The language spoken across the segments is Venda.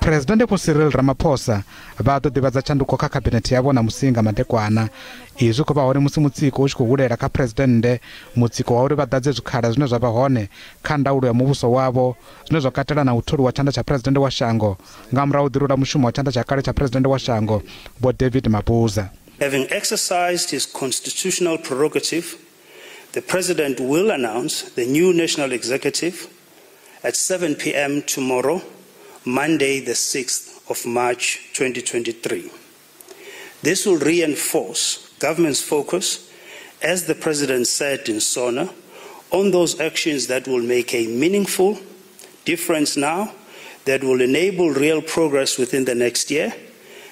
Presidennde Vho Cyril Ramaphosa vha ḓo ḓivhadza tshanduko kha khabinethe yavho ṋamusi nga madekwana. Izwi khou vha hone musi mutsiko u tshi khou hulela kha Presidennde, mutsiko wa uri vha ḓadze zwikhala zwine zwa vha hone kha ndaulo ya muvhuso wavho, zwine zwa katela na u tholiwa tshanḓa tsha Presidennde wa shango nga murahu u ḓirula mushumo wa tshanḓa tsha kale tsha Presidennde wa shango Vho David Mabuza. Having exercised his constitutional prerogative, the President will announce the new national executive at 7 p.m. tomorrow, Monday, the 6th of March 2023. This will reinforce government's focus, as the President said in SONA, on those actions that will make a meaningful difference now, that will enable real progress within the next year,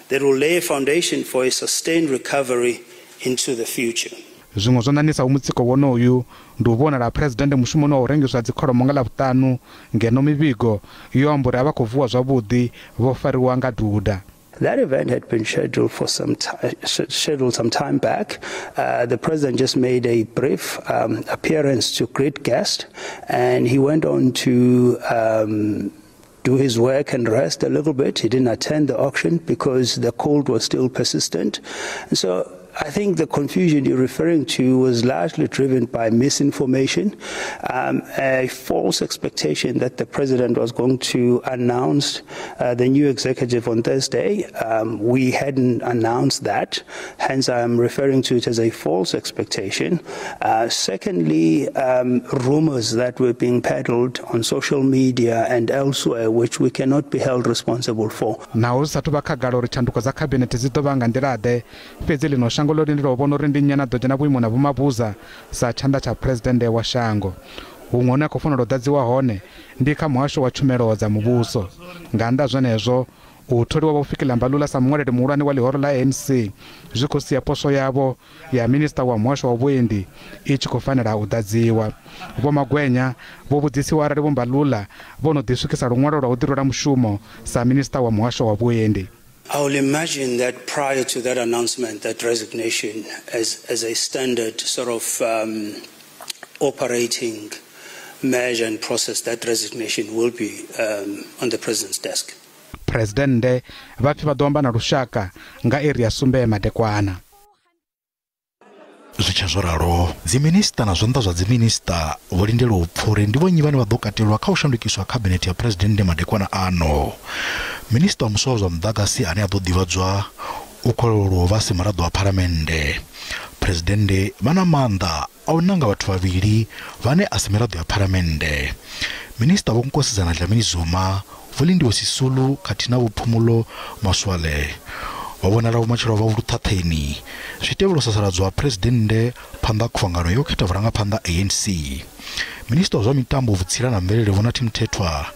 that will lay a foundation for a sustained recovery into the future. Zwiṅwe zwo ṋaṋisaho mutsiko wonoyu ndi u vhonala Presidennde mushumoni wa u rengiswa dzikholomo nga Ḽavhuṱanu, ngeno mivhigo yo amba uri a vha khou vuwa zwavhuḓi vho fariwa nga duda. That event had been scheduled for some scheduled some time back. The president just made a brief appearance to greet guests, and he went on to do his work and rest a little bit. He didn't attend the auction because the cold was still persistent. And so I think the confusion you're referring to was largely driven by misinformation, a false expectation that the president was going to announce the new executive on Thursday. We hadn't announced that, hence I'm referring to it as a false expectation. Secondly, rumors that were being peddled on social media and elsewhere, which we cannot be held responsible for. Naho zwi sathu vha khagala uri tshanduko dza khabinethe dzi ḓo vha nga nḓila-ḓe, fhedzi ḽino shango ḽo lindela u vhona uri ndi nnyi ane a ḓo dzhena vhuimoni ha Vho Mabuza sa tshanḓa tsha Phuresidennde wa shango. Huṅwe hune a khou fanela u ḓadziwa hone ndi kha muhasho wa tshumelo dza muvhuso. Nga nnḓa zwenezwo, u tholiwa Vho Fikile Mbalula sa muṅwaleli muhulwane wa ḽihoro ḽa ANC zwi khou sia poswo yavho ya minista wa muhasho wa vhuendi i tshi khou fanela u ḓadziwa. Vho Magwenya vho vhudzisiwa arali Vho Mbalula vho no ḓi swikisa luṅwalo lwa u ḓirula mushumo sa minista wa muhasho wa vhuendi. I will imagine that prior to that announcement, that resignation as a standard sort of operating measure and process, that resignation will be on the president's desk. Presidennde vha pfi vha ḓo amba na lushaka nga iri ya 7 madekwana. Zwi tshe zwo ralo, dziminista na zwanḓa zwa dziminista vho lindela u pfa uri ndi vhonnyi vhane vha ḓo katelwa kha u shandukiswa khabinethe ya Phuresidennde madekwana ano. Minista wa muswa wa zwa muḓagasi ane a ḓo ḓivhadzwa u khou vha si muraḓo wa phalamennde. Phuresidennde vha na maanḓa a u nanga vhathu vhavhili vhane a si miraḓo ya phalamennde. Minista Vho Nkosazana Dlamini Zuma, Vho Lindiwe Sisulu khathihi na Vho Phumulo Masualle vha vhonala vhumatshelo vha vhuluṱhaṱheni zwi tevhela u sasaladzwa ha Phuresidennde phanḓa khuvhangano yo khetha vhurangaphanḓa ANC. Minista wa zwa mitambo, vhutsila na mvelele Vho Nathi Mthethwa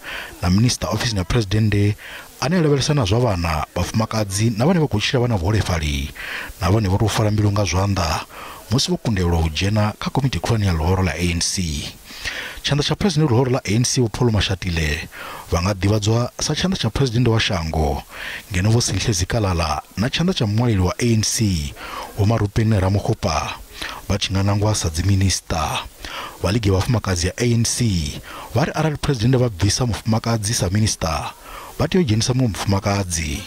na minista ofisini ya Phuresidennde ane a lavhelesa na zwa vhana, vhafumakadzi na vhane vha khou tshila vha na vhuholefhali na vhone vho tou fara mbilu nga zwanḓa musi vho kundelwa u dzhena kha komiti khulwane ya ḽihoro ḽa ANC. Tshanḓa tsha Phuresidennde ḽihoro ḽa ANC Vho Paul Mashatile vha nga ḓivhadzwa sa tshanḓa tsha Phuresidennde wa shango, ngeno Vho Sihle Zikalala na tshanḓa tsha muṅwaleli wa ANC Vho Maropene Ramokgopa vha tshi nga nangwa sa dziminista. Vha ligi ya vhafumakadzi ya ANC vha ri arali Phuresidennde vha bvisa mufumakadzi sa minista, vha tea u dzhenisa muṅwe mufumakadzi.